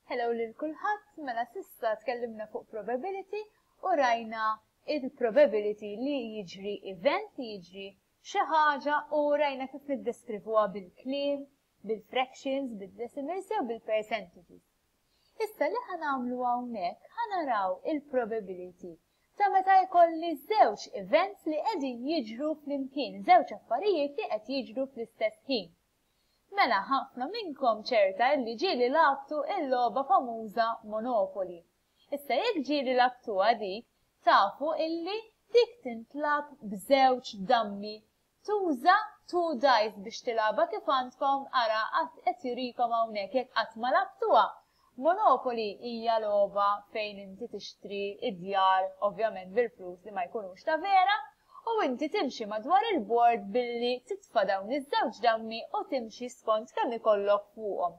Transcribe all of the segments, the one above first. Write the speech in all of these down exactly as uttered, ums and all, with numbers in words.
Hello lil kulħadd, mela s'issa tkellimna fuq probability u rajna il-probability li jiġri event, li jiġri xi ħaġa u rajna kif niddeskrivuha bil-kliem, bil-fractions, bil-decimals jew bil-percentages. Issa li ħa nagħmlu hawnhekk ħa naraw il-probability ta' meta jkolli żewġ events li qegħdin jiġru flimkien, żewġ affarijiet li qed jiġru fl-istess ħin. Mela ħafna minnkom ċerta li ġieli lgħabtu il-logħba famuża Monopoly. Issa jekk ġieli lgħabtuha dik, tafu illi dik tintlagħab b'żewġ dammi. Tuża two dice biex tilgħabha kif għandkom ara qed jurikom hawnhekk jekk qatt ma lgħabtuha. Monopoly hija logħba fejn inti tixtri id-djar ovvjament bil-flus li ma jkunux ta' vera u inti timxi madwar il-board billi titfa' dawn iż-żewġ dammi u timxi skont kemm ikollok fuqhom.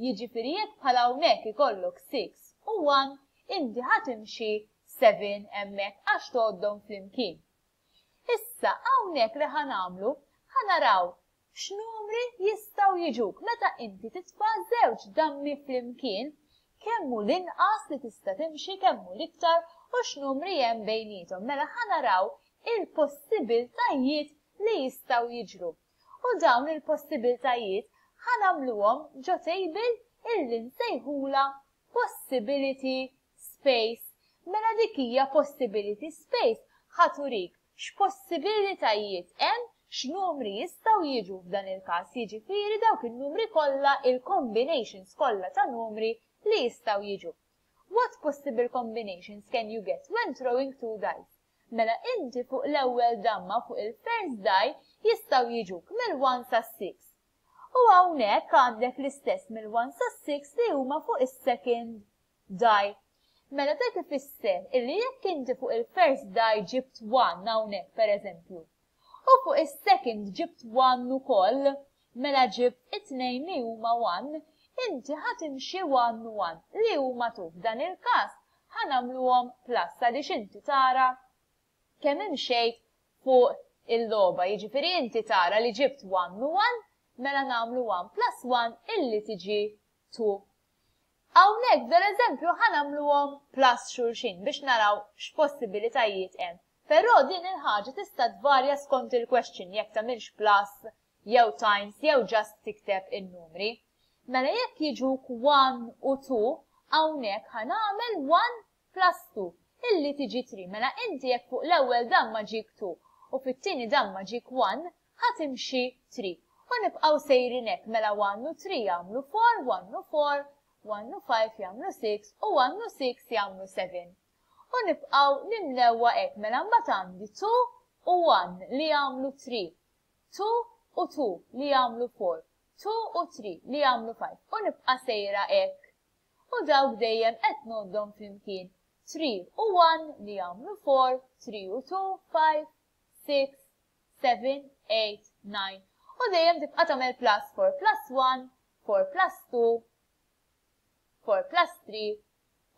Jiġifieri jekk bħala hawnhekk ikollok six u one, inti ħa timxi seven hemmhekk għax tgħoddhom flimkien. Issa hawnhekk li ħa nagħmlu ħa naraw x'numri jistgħu jiġuk meta inti titfa' żewġ dammi flimkien, kemm hu l-inqas li tista' timxi, kemm hu l-iktar u x'numri hemm bejniethom. Mela ħa naraw il-possibiltajiet li jistgħu jiġru. U dawn il-possibiltajiet ħa nagħmluhom ġo table illi nsejħula possibility space. Mela dik hija possibility space ħa turik x'possibilitajiet hemm, x'numri jistgħu jiġu f'dan il-każ, jiġifieri dawk in-numri kollha, il-combinations kollha ta' numri li jistgħu jiġu. What possible combinations can you get when throwing two dice? Mela inti fuq l-ewwel damma, fuq il-first die, jistgħu jiġuk mill-one sa six. U hawnhekk għandek l-istess mill-one sa six li huma fuq is-second die. Mela dak ifisser illi jekk inti fuq il-first die ġibt one hawnhekk pereżempju, u fuq is-second ġibt one ukoll, mela ġibt it-tnejn li huma one, inti ħa timxi one u one li huma two. F'dan il-każ ħa nagħmluhom plus għaliex inti tara kemm imxejt fuq il-logħba. Jiġifieri inti tara li ġibt one u one, mela nagħmlu one plus one illi tiġi two. Hawnhekk f'dan eżempju ħa nagħmluhom plus xulxin biex naraw x'possibilitajiet hemm. Però din il-ħaġa tista' tvarja skont il-question jekk tagħmilx plus jew times jew just tikteb in-numri. Mela jekk jiġuk one u two, hawnhekk ħa nagħmel one plus two illi tiġi three. Mela inti jekk fuq l-ewwel damma ġik two u fit-tieni damma ġik one, ħa timxi three. U nibqgħu sejrin hekk, mela one u three jagħmlu four, one u four, one u five jagħmlu six u one u six jagħmlu seven. U nibqgħu nimlewha hekk, mela mbagħad għandi two u one li jagħmlu three, two u two li jagħmlu four, two u three li jagħmlu five u nibqa' sejra hekk. U dawk dejjem qed ngħoddhom flimkien. Three u one li jagħmlu four, three u two, five, six, seven, eight, nine. U dejjem tibqa' tagħmel plus four plus one, four plus two, four plus three,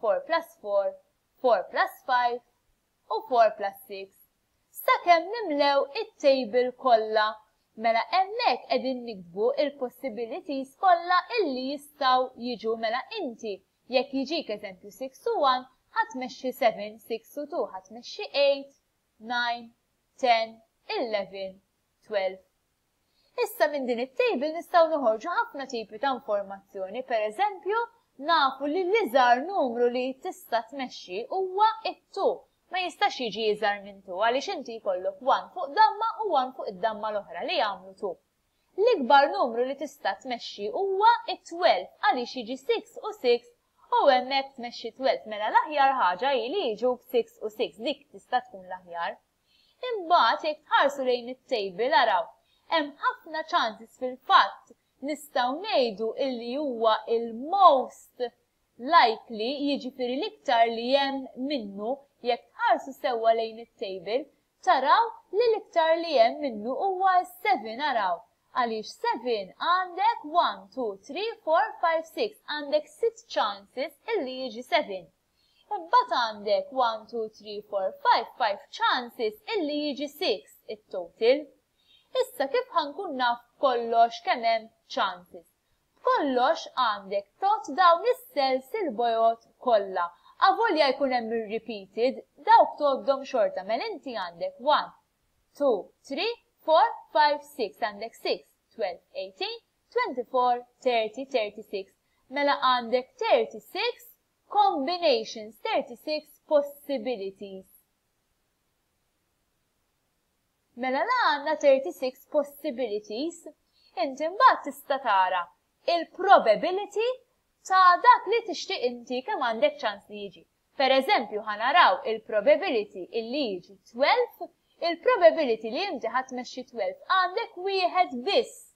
four plus four, four plus five u four plus six. Sakemm nimlew it-table kollha. Mela hemmhekk qegħdin niktbu il-possibilities kollha illi jistgħu jiġu. Mela inti jekk jiġik eżempju six u one, ħa tmexxi seven, six u two, ħa tmexxi eight, nine, ten, eleven, twelve. Issa minn din it-table nistgħu noħorġu ħafna tipi ta' informazzjoni. Per eżempju, nafu li l-iżgħar numru li tista' tmexxi huwa it-two. Ma jistax jiġi iżgħar minn two għaliex inti jkollok one fuq damma u one fuq id-damma l-oħra li jagħmlu two. L-ikbar numru li tista' tmexxi huwa it-twelve għaliex jiġi six u six u hemmhekk tmexxi twelve. Mela l-aħjar ħaġa hi li jiġuk six u six, dik tista' tkun l-aħjar. Imbagħad jekk tħarsu lejn it-table araw, hemm ħafna chances. Fil-fatt nistgħu ngħidu illi huwa il-most likely, jiġifieri l-iktar li hemm minnu, jekk tħarsu sewwa lejn it-table taraw li l-iktar li hemm minnu huwa seven, araw. Għaliex seven għandek one, two, three, four, five, six, għandek six chances illi jiġi seven. Imbagħad għandek one, two, three, four, five, five chances illi jiġi six it-total. Issa kif ħa nkun naf kollox kemm hemm chances? B'kollox għandek tgħodd dawn is-cells il-bojod kollha. Avolja jkun hemm repeated, dawk tgħoddhom xorta. Mela inti għandek one, two, three, four, five, six. Għandek six, twelve, eighteen, twenty-four, thirty, thirty-six. Mela għandek thirty-six combinations, thirty-six possibilities. Mela la għandna thirty-six possibilities, inti mbagħad tista' tara il-probability ta' dak li tixtieq inti kemm għandek ċans li jiġi. Per eżempju, ħa naraw il-probability illi jiġi twelve, il-probability li inti ħa tmexxi twelve għandek wieħed biss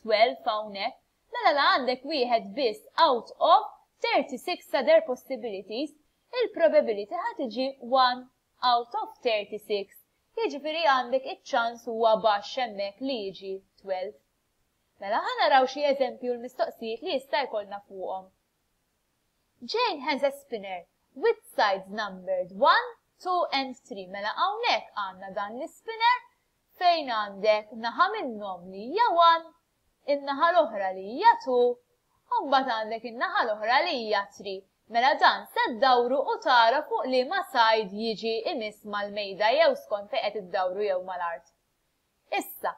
twelve hawnhekk. Mela la għandek wieħed biss out of thirty-six other possibilities, il-probability ħa tiġi one out of thirty-six. Jiġifieri għandek iċ-ċans huwa baxx hemmhekk li jiġi twelve. Mela ħa naraw xi eżempju l-mistoqsijiet li jista' jkollna fuqhom. Jane has a spinner with sides numbered one, two and three. Mela hawnhekk għandna dan l-spinner fejn għandek naħa minnhom li hija one, in-naħa l-oħra li hija two, u mbagħad għandek in-naħa l-oħra li hija three. Mela dan se ddawru u tara fuq liema side jiġi imiss mal-mejda jew skont fejn qed iddawru jew mal-art. Issa,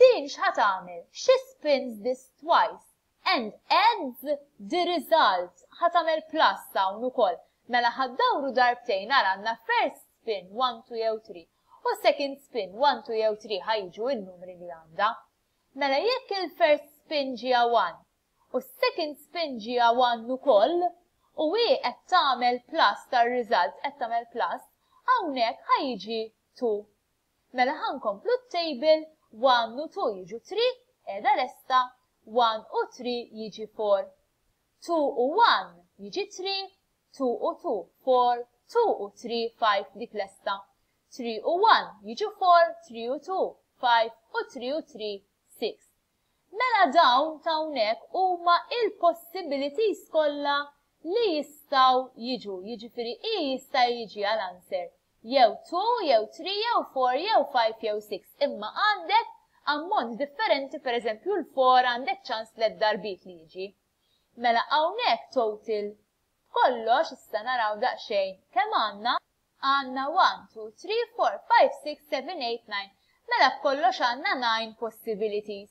din x'ħa tagħmel? She spins this twice and adds the result. Ħa tagħmel plus hawn ukoll. Mela ħa ddawru darbtejn, ara għandna first spin one, two jew three u second spin one, two jew three ħa jiġu n-numri li għandha. Mela jekk il-first spin ġie one u second spin ġie one ukoll u hi qed tagħmel plus tar-result, qed tagħmel plus, hawnhekk ħa jiġi two. Mela ħa nkomplu t-table, one u two jiġu three, qiegħda lesta, one u three jiġi four. Two u one jiġi three, two u two, four, two u three, five, dik lesta. Three u one jiġu four, three u two, five u three u three, six. Mela dawn ta' hawnhekk huma il-possibilities kollha li jistgħu jiġu, jiġifieri i jista' jiġi għal answer jew two, jew three, jew four, jew five, jew six. Imma għandek ammont differenti, per eżempju l-four għandek ċans tliet darbiet li jiġi. Mela hawnhekk total kollox issa naraw daqsxejn kemm għandna. Għandna one, two, three, four, five, six, seven, eight, nine. Mela b'kollox għandna nine possibilities.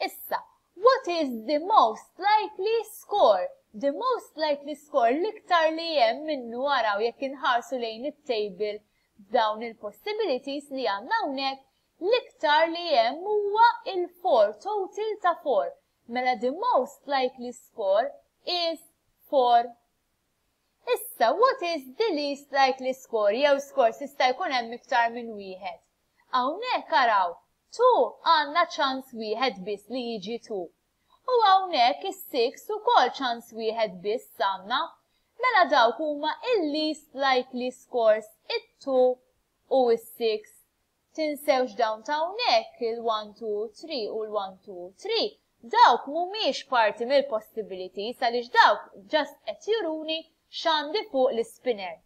Issa, what is the most likely score? The most likely score l-iktar li hemm minnu araw jekk inħarsu lejn it-table f'dawn il-possibilities li għandna hawnhekk, l-iktar li hemm huwa il-four, total ta' four. Mela the most likely score is four. Issa, what is the least likely score? Jew scores jista' jkun hemm iktar minn wieħed. Hawnhekk araw, two għandna ċans wieħed biss li jiġi two. U hawnhekk is-six ukoll ċans wieħed biss għandna. Mela dawk huma il-least likely scores, it-two u is-six. Tinsewx dawn ta' hawnhekk il-one, two, three u l-one, two, three. Dawk mhumiex parti mill-possibilities għaliex dawk just qed juruni x'għandi fuq l-spinner.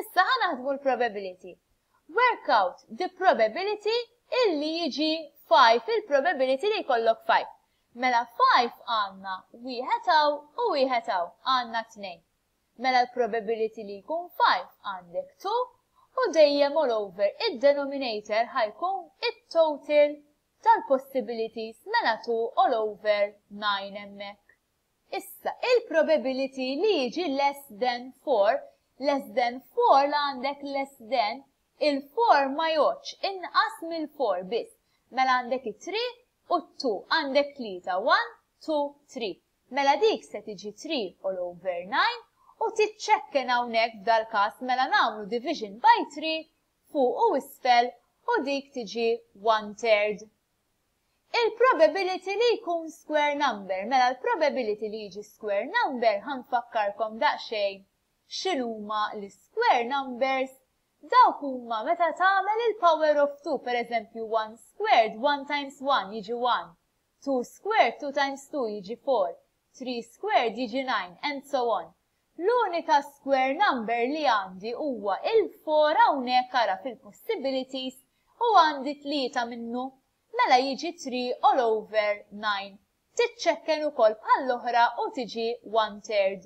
Issa ħa naħdmu l-probability. Work out the probability illi jiġi five, il-probability li jkollok five. Mela five għandna wieħed hawn u wieħed hawn, għandna tnejn. Mela l-probability li jkun five għandek two u dejjem all over id-denominator ħa jkun it-total tal-possibilities, mela two all over nine hemmhekk. Issa, il-probability li jiġi less than four, less than four la għandek less than, il-four ma jgħoddx, inqas mill-four biss. Mela għandek it-three u two, għandek tlieta, one, two, three. Mela dik se tiġi three all over nine u tiċċekken hawnhekk f'dal-każ mela nagħmlu division by three fuq u isfel u dik tiġi one third. Il-probability li jkun square number, mela l-probability li jiġi square number ħa nfakkarkom daqsxejn x'inhuma l-square numbers. Dawk huma meta tagħmel il-power of two, per eżempju one squared, one times one jiġi one, two squared, two times two jiġi four, three squared jiġi nine, and so on. L-unika square number li għandi huwa il-four hawnhekk ara fil-possibilities u għandi tlieta minnu, mela jiġi three all over nine. Tiċċekken ukoll bħall-oħra u tiġi one third.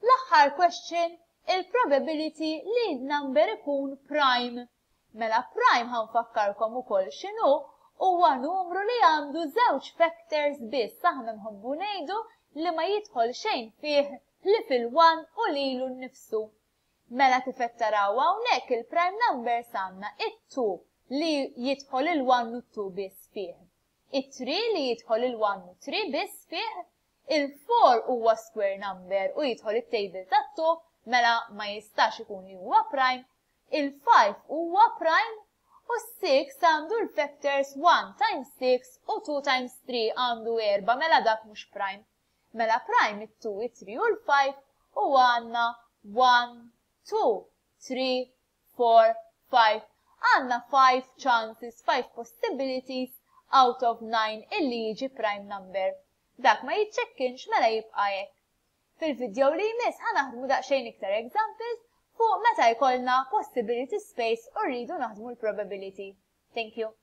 L-aħħar question, il-probability li number ikun prime. Mela prime, ħa nfakkarkom ukoll x'inhu, huwa numru li għandu żewġ factors biss. Aħna nħobbu ngħidu li ma jidħol xejn fih li fil-one u lilu nnifsu. Mela kif qed taraw hawnhekk, il-prime numbers għandna it-two li jidħol il-one u two biss fih. It-three li jidħol il-one u three biss fih, il-four huwa square number u jidħol it-table tat-two, mela ma jistax ikun li huwa prime, il-five huwa prime u six għandu l-factors one times six u two times three, għandu erba', mela dak mhux prime. Mela prime it-two, it-three u l-five u għandna one, two, three, four, five. Għandna five chances, five possibilities out of nine illi jiġi prime number. Dak ma jiċċekkinx, mela jibqa' hekk. Fil-video li jmiss ħa naħdmu daqsxejn iktar examples fuq meta jkollna possibility space u rridu naħdmu l-probability. Thank you.